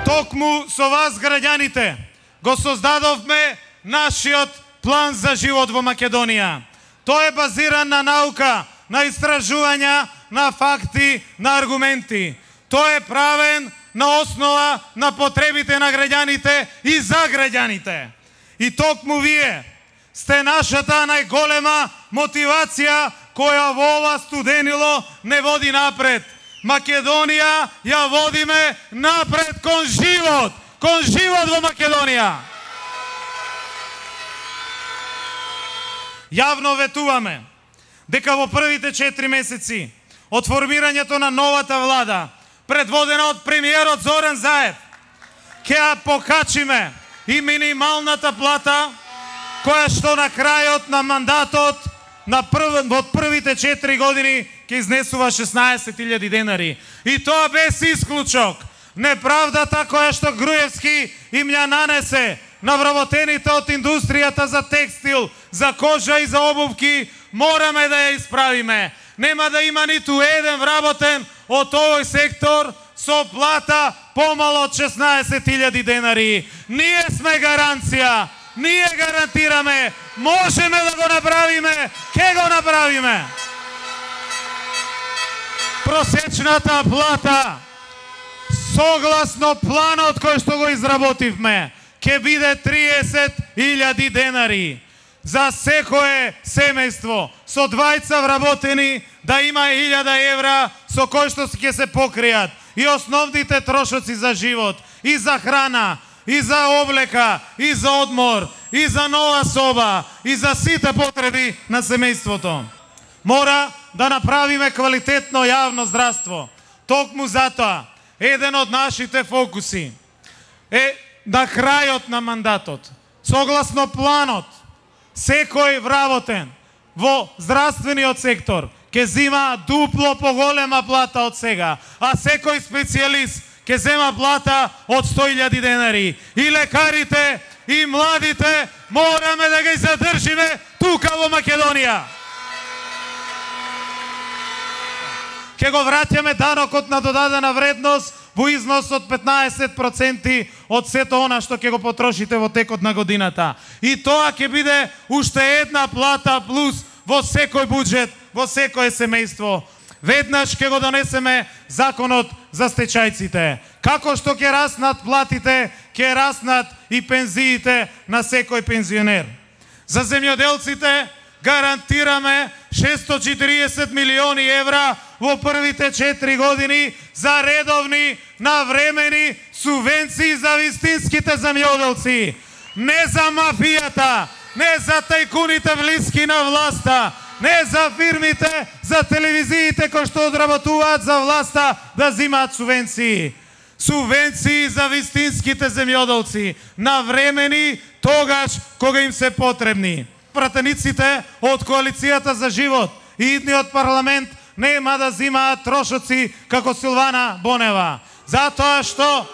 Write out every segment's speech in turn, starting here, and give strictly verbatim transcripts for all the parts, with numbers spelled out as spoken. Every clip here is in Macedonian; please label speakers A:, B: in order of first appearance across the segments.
A: Токму со вас, граѓаните, го создадовме нашиот план за живот во Македонија. Тој е базиран на наука, на истражувања, на факти, на аргументи. Тој е правен на основа на потребите на граѓаните и за граѓаните. И токму вие сте нашата најголема мотивација која во ова студенило не води напред. Македонија ја водиме напред кон живот, кон живот во Македонија. Јавно ветуваме дека во првите четири месеци од формирањето на новата влада, предводена од премиерот Зоран Заев, ќе ја покачиме и минималната плата, која што на крајот на мандатот на прв, од првите четири години ќе изнесува шеснаесет илјади денари. И тоа без исклучок. Неправдата која што Груевски им ја нанесе на вработените од индустријата за текстил, за кожа и за обувки, мораме да ја исправиме. Нема да има ниту еден вработен од овој сектор со плата помало од шеснаесет илјади денари. Ние сме гаранција, ние гарантираме, можеме да го направиме, ке го направиме. Просечната плата, согласно планот кој што го изработивме, ќе биде триесет илјади денари. За секое семејство со двајца вработени да има илјада евра со кој што ќе се покријат и основните трошоци за живот, и за храна, и за облека, и за одмор, и за нова соба, и за сите потреби на семејството. Мора да направиме квалитетно јавно здравство. Токму затоа, еден од нашите фокуси е на крајот на мандатот, согласно планот, секој вработен во здравствениот сектор ќе зема дупло поголема плата од сега, а секој специјалист ќе зема плата од сто илјади денари. И лекарите, и младите мораме да ги задржиме тука во Македонија. Ќе го враќаме данокот на додадена вредност во износ од петнаесет проценти од сето она што ќе го потрошите во текот на годината. И тоа ќе биде уште една плата плюс во секој буџет, во секое семејство. Веднаш ќе го донесеме законот за стечајците. Како што ќе раснат платите, ќе раснат и пензиите на секој пензионер. За земјоделците гарантираме шестстотини и четириесет милиони евра во првите четири години за редовни, навремени субвенции за вистинските земјоделци. Не за мафијата, не за тајкуните блиски на власта, не за фирмите, за телевизиите кои што одработуваат за власта да зимаат субвенции. Субвенции за вистинските земјоделци, навремени тогаш кога им се потребни. Пратениците од Коалицијата за живот и идниот парламент нема да зимаат трошоци како Силвана Бонева. Затоа што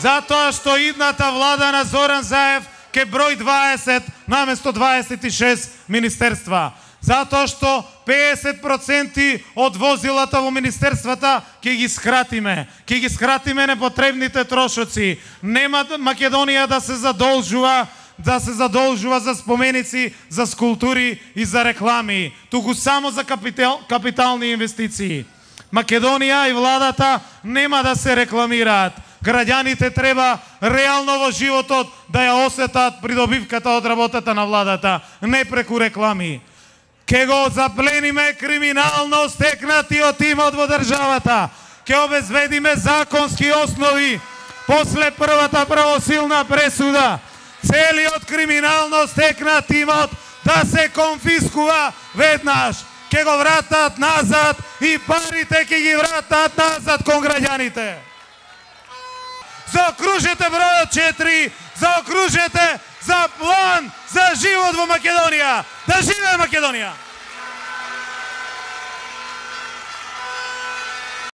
A: затоа што идната влада на Зоран Заев ке број дваесет наместо дваесет и шест министерства. Затоа што педесет проценти од возилата во министерствата ќе ги скратиме. Ќе ги скратиме непотребните трошоци. Нема Македонија да се задолжува да се задолжува за споменици, за скулптури и за реклами, туку само за капитал, капитални инвестиции. Македонија и владата нема да се рекламираат. Граѓаните треба реално во животот да ја осетат придобивката од работата на владата, не преку реклами. Ке го заплениме криминално стекнатиот имот во државата. Ке обезбедиме законски основи после првата правосилна пресуда. Целиот криминално стекнат имот да се конфискува веднаш. Ке го вратат назад и парите ке ги вратат назад кон граѓаните. Заокружете бројот четири, заокружете за план за живот во Македонија. Да живее Македонија!